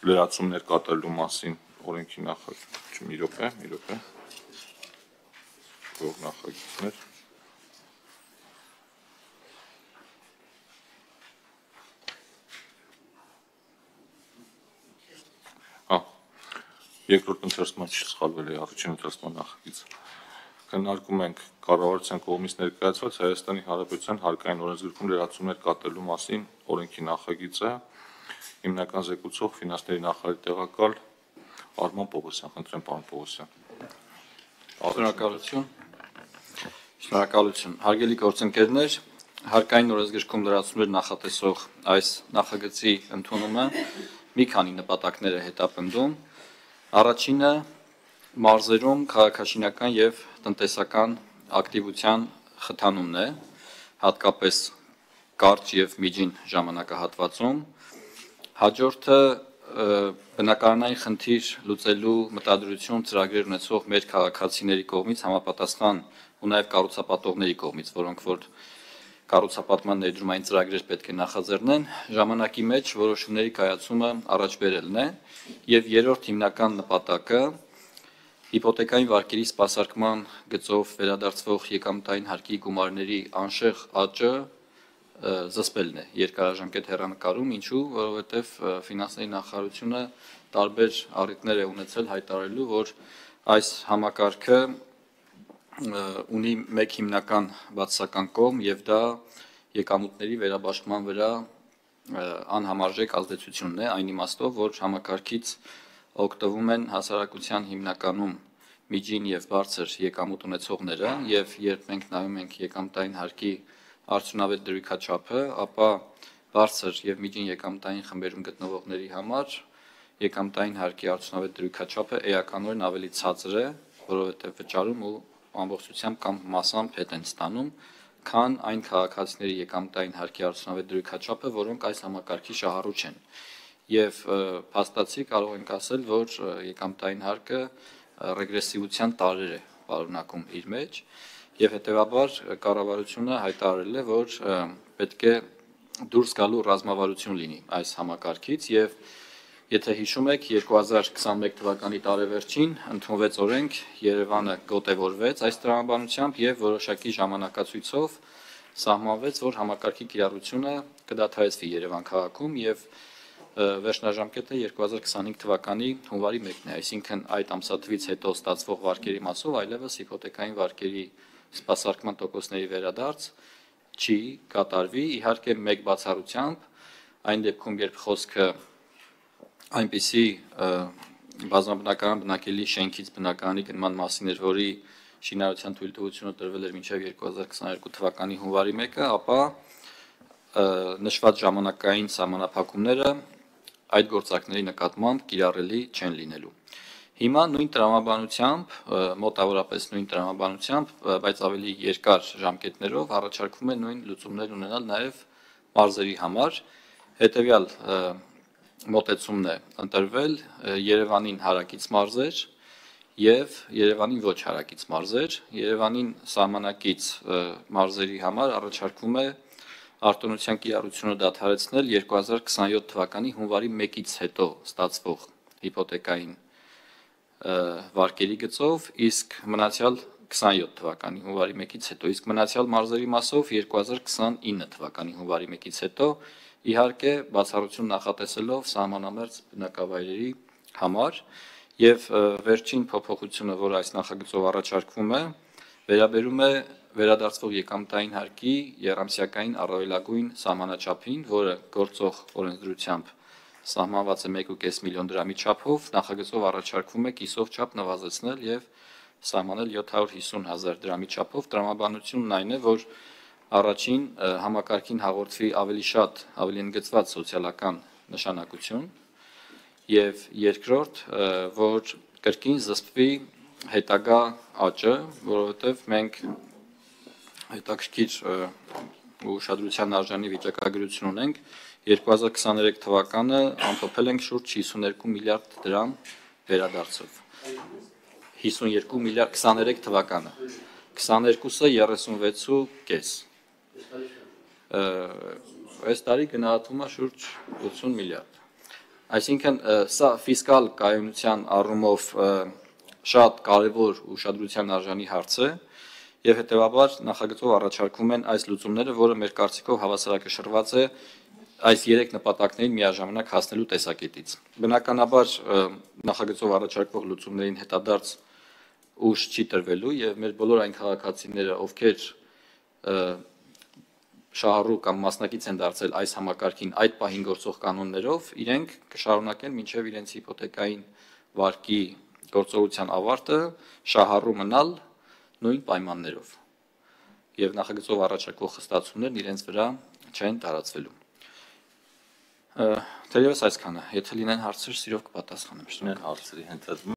լրացումներ կատարելու մասին օրենքի նախագիծ մի րոպե նախագիծներ երկրորդ ընթերցման չսխալվել է առաջին ընթերցման նախագիծը քննարկում ենք կառավարության կողմից ներկայացված Հայաստանի Հանրապետության հարկային օրենսգրքում լրացումներ կատարելու մասին օրենքի նախագիծը հիմնական զեկուցող ֆինանսների նախարարի տեղակալ Արման Պողոսյան, խնդրեմ պարոն Պողոսյան։ Շնորհակալություն։ Հարգելի գործընկերներ, հարկային օրենսգրքում լրացումներ նախատեսող այս նախագծի ընդունումը մի քանի նպատակներ է հետապնդում։ Առաջինը մարզերում քաղաքաշինական եւ տնտեսական ակտիվության խթանումն է, հատկապես կարճ եւ միջին ժամանակահատվածում։ Հաջորդը բնակարանային խնդիր լուծելու մտադրություն ծրագրեր ունեցող մեր քաղաքացիների կողմից համապատասխան ու նաեւ կառուցապատողների կողմից, որոնք որ կառուցապատման ներդրումային ծրագրեր պետք է նախաձեռնեն, ժամանակի մեջ որոշումների կայացումը առաջ բերելն է եւ երրորդ հիմնական նպատակը հիպոթեկային վարկերի սպասարկման գծով վերադարձվող եկամտային հարկի գումարների անշեղ աճը զսպելն է երկարաժամկետ հեռանկարում, ինչու, որովհետև ֆինանսների նախարարությունը տարբեր առիթներ է ունեցել հայտարարելու, որ այս համակարգը ունի մեկ հիմնական բացասական կողմ եւ դա եկամուտների վերաբաշխման վրա անհամարժեք ազդեցությունն է, այն իմաստով, որ համակարգից օգտվում են հասարակության հիմնականում միջին եւ բարձր եկամուտ ունեցողները եւ երբ մենք նայում ենք եկամտային հարկի արդյունավետ դրույքաչափը, ապա բարձր եւ միջին եկամտային խմբերում գտնվողների համար եկամտային հարկի արդյունավետ դրույքաչափը էականորեն ավելի ցածր է, որովհետեւ վճարում ու ամբողջությամբ կամ մասամբ հետ են ստանում, քան այն քաղաքացիների եկամտային հարկի արդյունավետ դրույքաչափը, որոնք այս համակարգի շահառու չեն։ Եվ փաստացի կարող ենք ասել, որ եկամտային հարկը ռեգրեսիվության տարրեր է պարունակում իր մեջ եւ հետեւաբար կառավարությունը հայտարարել է, որ պետք է դուրս գալու ռազմավարություն լինի այս համակարգից եւ եթե հիշում եք 2021 թվականի տարեվերջին ընդունվեց օրենք, Երևանը գոտևորվեց այս տրամաբանությամբ եւ որոշակի ժամանակացույցով սահմանվեց, որ համակարգի կիրառությունը կդադարեցվի Երևան քաղաքում եւ վերջնաժամկետը 2025 թվականի հունվարի 1-ն է, այսինքն այդ ամսաթվից հետո ստացվող վարկերի մասով այլևս հիպոթեկային վարկերի սպասարկման տոկոսների վերադարձ չի կատարվի, իհարկե մեկ բացառությամբ, այն դեպքում, երբ խոսքը այնպիսի բազմաբնակարան բնակելի շենքից բնակարանի գնման մասին էր, որի շինարարության թույլտվությունը տրվել էր մինչև 2022 թվականի հունվարի 1-ը, ապա նշված ժամանակային սահմանափակումները այդ գործակների նկատմամբ կիրառելի չեն լինելու։ Հիմա նույն տրամաբանությամբ, մոտավորապես նույն տրամաբանությամբ, բայց ավելի երկար ժամկետներով առաջարկվում է նույն լուծումներ ունենալ նաև մարզերի համար, հետևյալ մոտեցումն է ընտրվել Երևանին հարակից մարզեր եւ Երևանին ոչ հարակից մարզեր, Երևանին սահմանակից մարզերի համար առաջարկվում է արտոնության կիրառությունը դադարեցնել 2027 թվականի հունվարի 1-ից հետո ստացվող հիպոթեկային վարկերի գծով, իսկ մնացյալ 27 թվականի հունվարի 1-ից հետո, իսկ մնացյալ մարզերի մասով 2029 թվականի հունվարի 1-ից հետո, իհարկե բացառություն նախատեսելով սահմանամերձ բնակավայրերի համար եւ վերջին փոփոխությունը, որ այս նախագծով առաջարկվում է, վերաբերում է վերադարձվող եկամտային հարկի եռամսյակային առավելագույն սահմանաչափին, որը գործող օրենսդրությամբ սահմանված է 1.5 միլիոն դրամի չափով, նախագծով առաջարկվում է կիսով չափ նվազեցնել եւ սահմանել 750,000 դրամի չափով։ Տրամաբանությունն այն է, որ առաջին համակարգին հաղորդվի ավելի շատ, ավելի ընդգծված սոցիալական նշանակություն եւ երկրորդ, որ կրկին զսպվի հետագա աճը, որովհետեւ մենք հետաքրքիր ու ուշադրության արժանի վիճակագրություն ունենք 2023 թվականը ամփոփել ենք շուրջ 52 միլիարդ դրամ վերադարձով 52 միլիարդ 23 թվականը 22-ը 36.5 այս տարի գնահատվում է շուրջ 80 միլիարդ Այսինքն սա ֆիսկալ կայունության առումով շատ կարևոր ուշադրության արժանի հարց է եւ հետեւաբար նախագծով առաջարկվում են այս լուծումները, որը մեր կարծիքով հավասարակշռված է այս 3 նպատակներին միաժամանակ հասնելու տեսակետից։ Բնականաբար նախագծով առաջարկվող լուծումներին հետադարձ ուժ չի տրվելու եւ մեր բոլոր այն քաղաքացիները, ովքեր շահառու կամ մասնակից են դարձել այս համակարգին այդ պահին գործող կանոններով, իրենք կշարունակեն մինչեւ իրենց հիփոթեկային վարկի գործողության ավարտը շահառու մնալ նույն պայմաններով։ Եվ նախագծով առաջարկվող խստացումներն իրենց վրա չեն տարածվելու։ Թերևս այսքանը, եթե լինեն հարցեր, սիրով կպատասխանեմ։ Շնորհակալ հարցերի հենց